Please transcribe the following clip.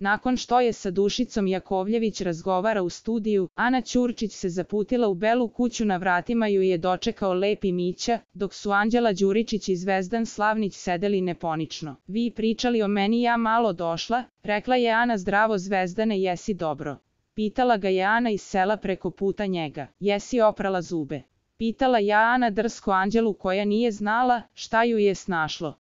Nakon što je sa Dušicom Jakovljević razgovara u studiju, Ana Ćurčić se zaputila u Belu kuću, na vratima ju je dočekao Lepi Mića, dok su Anđela Đuričić i Zvezdan Slavnić sedeli neponično. Vi pričali o meni, ja malo došla, rekla je Ana. Zdravo Zvezdane, jesi dobro? Pitala ga je Ana iz sela preko puta njega. Jesi oprala zube? Pitala je Ana drsko Anđelu, koja nije znala šta ju je snašlo.